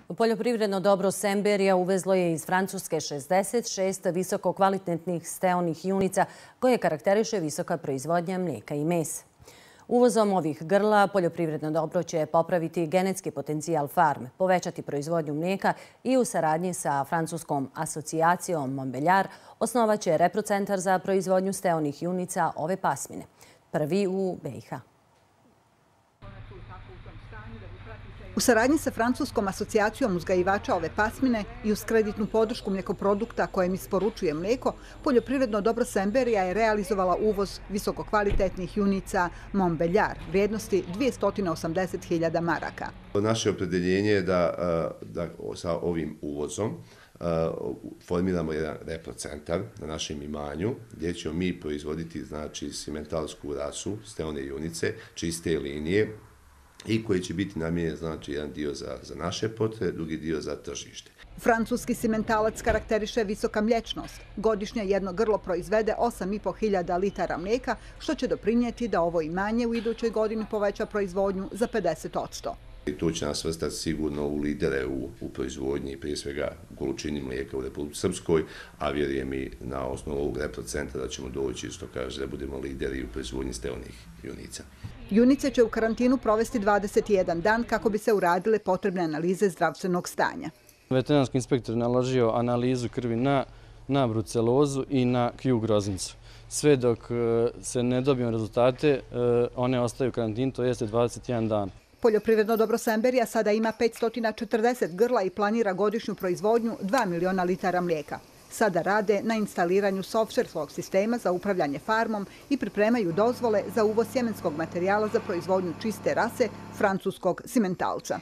Poljoprivredno dobro Semberija uvezlo je iz Francuske 66 visokokvalitetnih steonih junica koje karakteriše visoka proizvodnja mlijeka i mesa. Uvozom ovih grla poljoprivredno dobro će popraviti genetski potencijal farme, povećati proizvodnju mlijeka i u saradnji sa francuskom asocijacijom Montbéliard osnovaće reprocentar za proizvodnju steonih junica ove pasmine, prvi u BiH. U saradnji sa francuskom asocijacijom uzgajivača ove pasmine i uz kreditnu podršku mlijekoprodukta kojem isporučuje mlijeko, poljoprivredno dobro Semberija je realizovala uvoz visokokvalitetnih junica Montbéliard vrijednosti 280.000 maraka. Naše opredjeljenje je da sa ovim uvozom formiramo jedan reprocentar na našem imanju gdje ćemo mi proizvoditi simentalsku rasu, steone junice, čiste linije, i koji će biti namijenjen jedan dio za naše potrebe, drugi dio za tržište. Francuski simentalac karakteriše visoka mliječnost. Godišnje jedno grlo proizvede 8.500 litara mlijeka, što će doprinijeti da ovo imanje u idućoj godini poveća proizvodnju za 50%. To će nas svrstati sigurno u lidere u proizvodnji, prije svega u količini mlijeka u Republici Srpskoj, a vjerujem i na osnovu ovog reprocentra da ćemo doći, što kaže, da budemo lideri u proizvodnji steonih junica. Junice će u karantinu provesti 21 dan kako bi se uradile potrebne analize zdravstvenog stanja. Veterinarski inspektor naložio analizu krvi na brucelozu i na Q groznicu. Sve dok se ne dobiju rezultate, one ostaju u karantinu, to jeste 21 dan. Poljoprivredno dobro Semberija sada ima 540 grla i planira godišnju proizvodnju 2 miliona litara mlijeka. Sada rade na instaliranju softverskog sistema za upravljanje farmom i pripremaju dozvole za uvoz sjemenskog materijala za proizvodnju čiste rase francuskog simentalca.